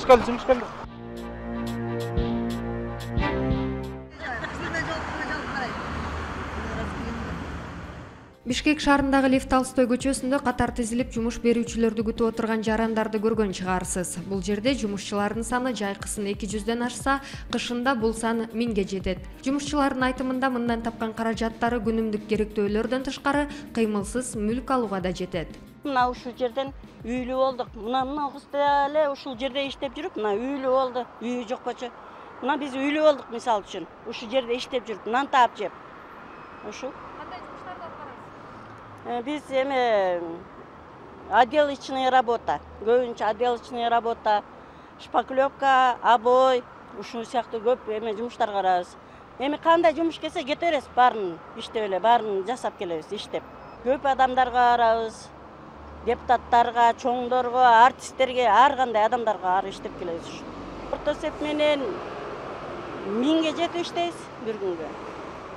жумуш келди. Бишкек шаарындагы Лев Толстой көчөсүндө катар тизилип жумуш берүүчүлөрдү күтүп отурган жарандарды көргөн чыгарсыз. Бул жерде жумушчулардын саны жайкысын 200дөн ашса, кышында бул сан 1000ге жетет. Жумушчулардын айтымында мындан тапкан каражаттары күнүмдүк керектөөлөрдөн тышкары кыймылсыз мүлк алууга да жетет. Мына ушул жерден үйлүү болдук. Мына кыз эле ушул жерде иштеп жүрүп, мына үйлүү болду. Үйү жоккочу. Мына биз үйлүү болдук мисалы үчүн. Ушул жерде иштеп жүрүп, нан таап жеп. Ушул. Кандай жумуштарды аткарасыз? Биз отделочная работа. Көбүнчө отделочная работа, шпаклевка, обой, ушул сыяктуу көп жумуштар карабыз. Кандай жумуш келсе кете беребиз, баарын иштеп эле, баарын жасап келебиз, иштеп. Көп адамдарга карабыз. Депутаттарга, чоңдорго, артисттерге, ар кандай адамдарга ар иштеп келебиз. Орто эсеп менен 1000ге жетип иштейбиз бир күнгө.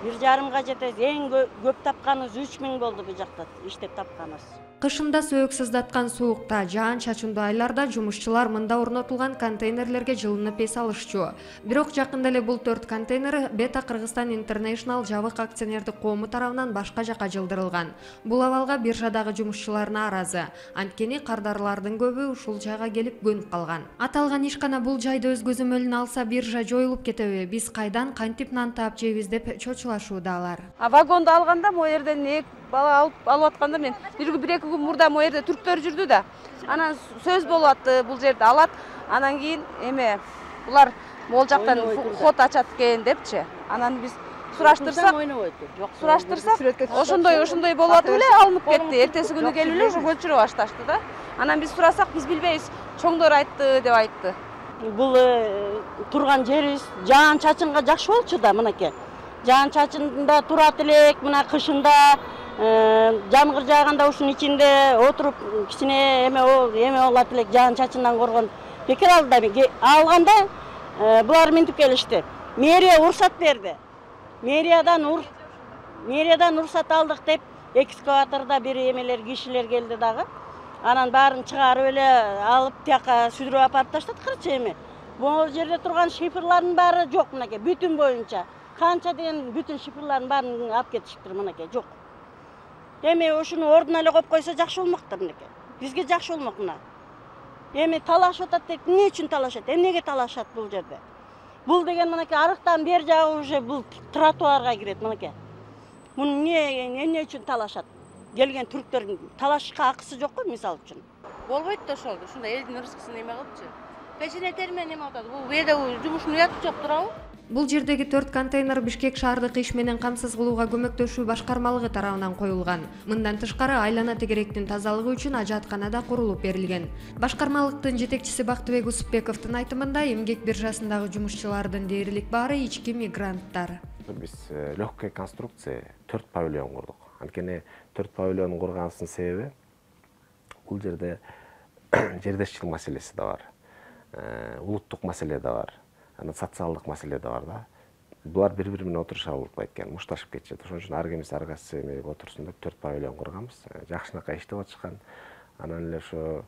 1,5 жетебиз. Эң көп тапканыбыз 3000 болду бул жакта иштеп тапканыбыз. Кышында сөөк сыздаткан суукта, жаан-чачындуу айларда жумушчулар мында орнотулган контейнерлерге жылынып эс алышчу. Бирок жакында эле бул 4 контейнер Бета Кыргызстан International жабык акционердик коому тарабынан башка жака жылдырылган. Бул абалга биржадагы жумушчулар нааразы. Анткени кардарлардын көбү ушул жайга келип көнүп калган. Аталган ишкана бул жайды өз көзөмөлүнө алса биржа жоюлуп кетеби? Биз кайдан кантип нан таап жейбиз деп чочулашууда алар. Вагонду алганда могу жерден бала алып атканда мен 1-2 күн мурда могу жерде түрктөр жүрдү да. Анан сөз болуп атты, бул жерде алат. Анан кийин булар могул жактан ход ачат экен депчи. Анан биз сураштырсак, ошондой болуп атып эле алынып кетти. Эртеси күнү келип эле көлчүрө башташты да. Анан биз сурасак, биз билбейбиз, чоңдор айтты деп айтты. Бул турган жерибиз жаан-чачынга жакшы болчу да, мынакей. Жаан-чачында турат элек, мына кышында жамгыр жааганда ушунун ичинде отуруп кичине эме болот элек, жаан-чачындан коргон. Бекер алганда булар минтип келишти. Мэрия уруксат берди. Мэриядан уруксат алдык деп экскаваторда бир эмелер кишилер келди дагы. Анан баарын чыгарып эле алып тияка сүдүрүп апарып таштаткырчы эми. Бул жерде турган шифрлардын баары жок мынакей, бүтүн боюнча. Канча деген бүтүн шифрлардын баарын алып кетишиптир мынакей, жок. Эми ушуну ордуна эле коюп койсо жакшы болмоктур мынакей. Бизге жакшы болмок мына. Эми талашып атат деп, эмне үчүн талашат? Эмнеге талашат бул жерде? Бул деген мынакей арыктан бер жагы уже бул тротуарга кирет мынакей. Муну эмне үчүн талашат? Келген түрктөрдүн талашышка акысы жок го мисалы үчүн. Болбойт да ошол. Ушундай элдин рызкысын эме кылыпчы. Печене термен эме атат. Бул бүйдө жумуштун уяты жок турабы? Бул жердеги 4 контейнер Бишкек шаардык иш менен камсыз кылууга көмөктөшүү башкармалыгы тарабынан коюлган. Мындан тышкары айлана тегеректин тазалыгы үчүн ажаткана да курулуп берилген. Башкармалыктын жетекчиси Бактыбек Усупбековдун айтымында эмгек биржасындагы жумушчулардын дээрлик баары ички мигранттар. Биз легкая конструкция 4 павильон курдук. Анткени 4 павильон курганыбыздын себеби бул жерде жердешчилик маселеси да бар. Улуттук маселе да бар. Социалдык маселе да бар да. Булар бири-бири менен отуруша албайт экен, мушташып кетишет. Ошон үчүн ар кимиси ар кайсы эме отурсун деп 4 павильон курганбыз. Жакшынакай иштеп атышкан. Анан эле ошо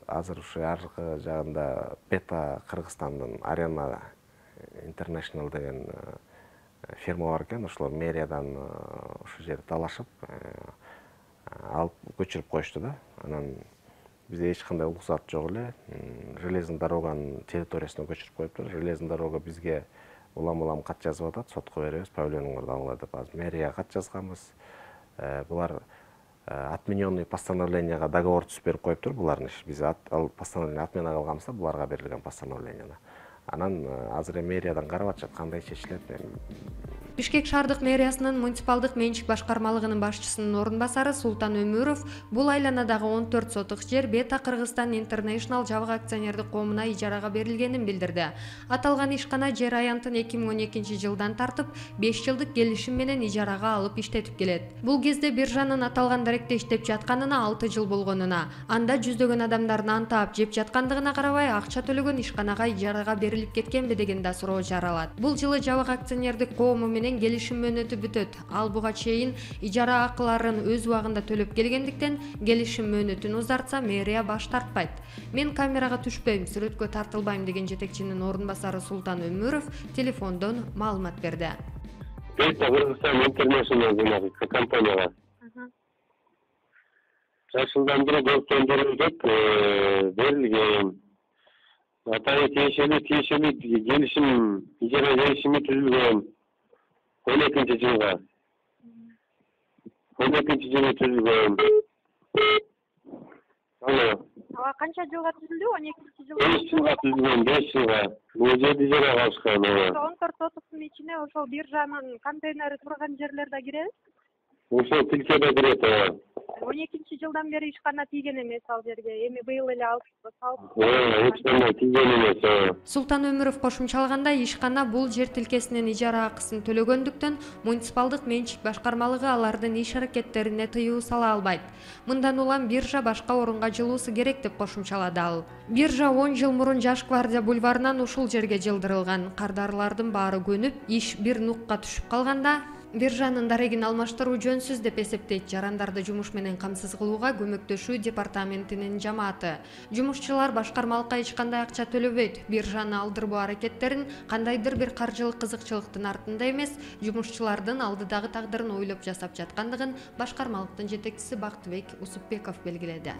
азыр ушу аркы жагында Бета Кыргызстандын Arena International деген фирма бар экен. Ошолор мэриядан ушул жерди талашып алып көчүрүп коюшту да. Анан бизде эч кандай уруксат жок эле. Железный дороганын территориясына көчүрүп коюптур. Железный дорога бизге улам кат жазып атат, сотко беребиз, павильонгорду алгыла деп. Азыр мэрияга кат жазганбыз. Булар отмененный постановленияга договор түзүп берип коюптур булардын иш. Биз ал постановление отмена кылганбыз да, буларга берилген постановлениени. Анан азыр мэриядан карап атышат кандай чечилет. Бишкек шаардык мэриясынын муниципалдык менчик башкармалыгынын башчысынын орун басары Султан Өмүров бул айланадагы 14 сотук жер Бета Кыргызстан International жабык акционердик коомуна ижарага берилгенин билдирди. Аталган ишкана жер аянтын 2012-жылдан тартып 5 жылдык келишим менен ижарага алып иштетип келет. Бул кезде биржанын аталган даректе иштеп жатканына 6 жыл болгонуна, анда жүздөгөн адамдар нан таап жеп жаткандыгына карабай акча төлөгөн ишканага ижарага берилип кеткенби деген да суроо жаралат. Бул жылы жабык акционердик коому менен менен келишим мөөнөтү бүтөт. Ал буга чейин ижара акыларын өз убагында төлөп келгендиктен келишим мөөнөтүн узартса мэрия баш тартпайт. Мен камерага түшпөйм, сүрөткө тартылбайм деген жетекчинин орун басары Султан Өмүров телефондон маалымат берди. Кыргызстан Интернешнл компанияга жашылдандыруу көптөндүрүлүп берилген. Атайын тиешелүү келишим, ижара келишими түзүлгөн 12-жылга. 12-жылы түзүлгөн. Ага канча жылга түзүлдү? 12-жылга. 5 жылга түзүлгөн, 5 жылга. Бул жерди ижара алышкан. 14-30 ичине ошол биржанын контейнери турган жерлер да кирет. Ошол тилкеде кирет. 12-жылдан бери ишкана тийген эмес ал жерге. Эми быйыл эле алып ишкана тийген эмес. Султан Өмүров кошумчалаганда, ишкана бул жер тилкесинин ижара акысын төлөгөндүктөн муниципалдык менчик башкармалыгы алардын иш аракеттерине тыюу сала албайт. Мындан улам биржа башка орунга жылуусу керек деп кошумчалады ал. Биржа 10 жыл мурун Жаш гвардия бульварынан ушул жерге жылдырылган. Кардарлардын баары көнүп, иш бир нукка түшүп калганда, биржанын дарегин алмаштыруу жөнсүз деп эсептейт жарандарды жумуш менен камсыз кылууга көмөктөшүү департаментинин жамааты. Жумушчулар башкармалыкка эч кандай акча төлөбөйт. Биржаны алдырбоо аракеттерин кандайдыр бир каржылык кызыкчылыктын артында эмес, жумушчулардын алдыдагы тагдырын ойлоп жасап жаткандыгын башкармалыктын жетекчиси Бактыбек Усупбеков белгиледи.